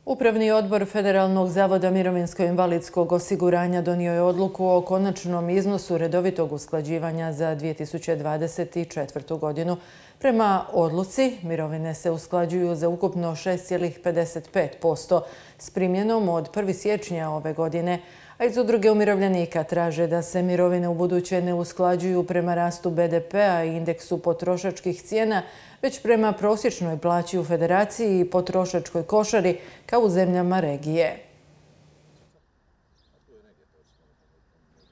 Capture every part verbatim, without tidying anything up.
Upravni odbor Federalnog zavoda mirovinsko-invalidskog osiguranja donio je odluku o konačnom iznosu redovitog usklađivanja za dvije tisuće dvadeset četvrtu. godinu. Prema odluci, mirovine se usklađuju za ukupno šest zarez pedeset pet posto s primjenom od prvog siječnja ove godine, a iz Udruge umirovljenika traže da se mirovine ubuduće ne usklađuju prema rastu be de pea i indeksu potrošačkih cijena, već prema prosječnoj plaći u Federaciji i potrošačkoj košari kao u zemljama regije.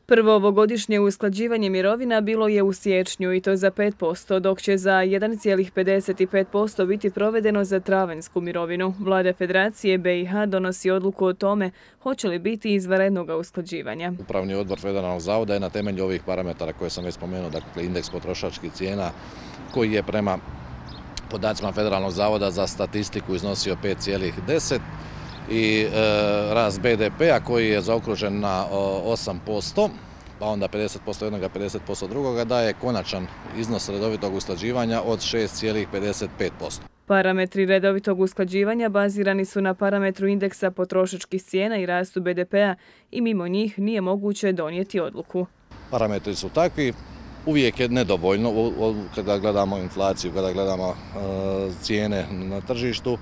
Prvo ovogodišnje usklađivanje mirovina bilo je u siječnju i to za pet posto, dok će za jedan zarez pedeset pet posto biti provedeno za travanjsku mirovinu. Vlada Federacije be i ha donosi odluku o tome hoće li biti izvanrednog usklađivanja. Upravni odbor Federalnog zavoda je na temelju ovih parametara koje sam već spomenuo, dakle indeks potrošačkih cijena koji je prema podacima Federalnog zavoda za statistiku iznosio pet zarez deset i e, rast be de pea koji je zaokružen na osam posto, pa onda pedeset posto jednoga, pedeset posto drugoga, daje konačan iznos redovitog usklađivanja od šest zarez pedeset pet posto. Parametri redovitog usklađivanja bazirani su na parametru indeksa potrošačkih cijena i rastu be de pea i mimo njih nije moguće donijeti odluku. Parametri su takvi. Uvijek je nedovoljno kada gledamo inflaciju, kada gledamo cijene na tržištu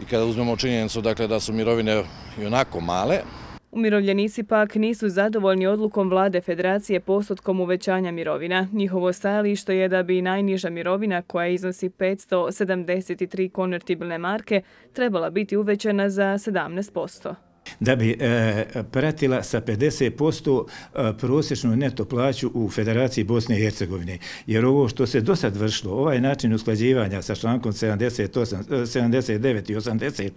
i kada uzmemo činjenicu dakle, da su mirovine i onako male. Umirovljenici pak nisu zadovoljni odlukom Vlade Federacije postotkom uvećanja mirovina. Njihovo stajalište je da bi najniža mirovina, koja iznosi petsto sedamdeset tri konvertibilne marke, trebala biti uvećana za sedamnaest posto. Da bi e, pratila sa pedeset posto e, prosječnu neto plaću u Federaciji Bosne i Hercegovine. Jer ovo što se do sad vršilo, ovaj način usklađivanja sa člankom sedamdeset osam, sedamdeset devet i osamdeset,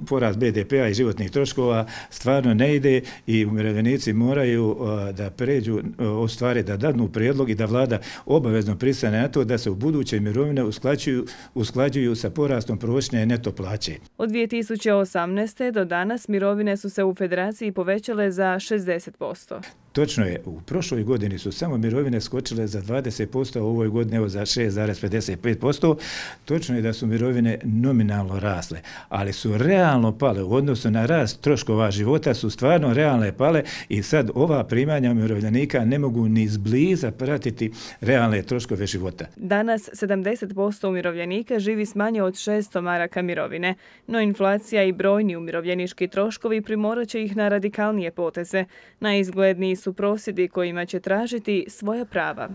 porast be de pea i životnih troškova, stvarno ne ide i umirovljenici moraju e, da pređu, e, ostvari da dadnu prijedlog i da vlada obavezno pristane na to da se u buduće mirovine usklađuju, usklađuju sa porastom prosječne neto plaće. Od dvije tisuće osamnaeste. do danas mirovine su se u Federaciji povećale za šezdeset posto. Točno je, u prošloj godini su samo mirovine skočile za dvadeset posto, a u ovoj godini evo za šest zarez pedeset pet posto. Točno je da su mirovine nominalno rasle, ali su realno pale u odnosu na rast troškova života, su stvarno realne pale i sad ova primanja umirovljenika ne mogu ni izbliza pratiti realne troškove života. Danas sedamdeset posto umirovljenika živi s manje od šesto maraka mirovine, no inflacija i brojni umirovljenički troškovi primorat će ih na radikalnije poteze. Najizgledniji su prosvjedi kojima će tražiti svoja prava.